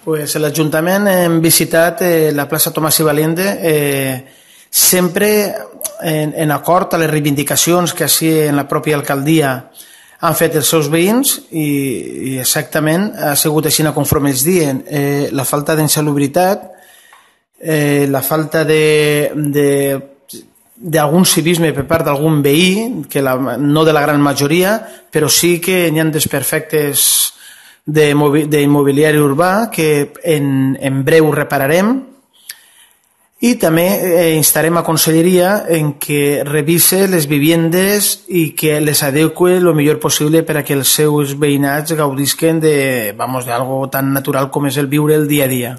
Pues l'Ajuntament hem visitat la plaça Tomàs i Valiente sempre en acord a les reivindicacions que així en la pròpia alcaldia han fet els seus veïns i exactament ha sigut així conforme ells diuen. La falta d'insalubritat, la falta d'algun civisme per part d'algun veí, que no de la gran majoria, però sí que hi ha desperfectes d'immobiliari urbà que en breu repararem, i també instarem a Conselleria en que revise les viviendes i que les adeqüe el millor possible per a que els seus veïnats gaudisquen d'algo tan natural com és el viure el dia a dia.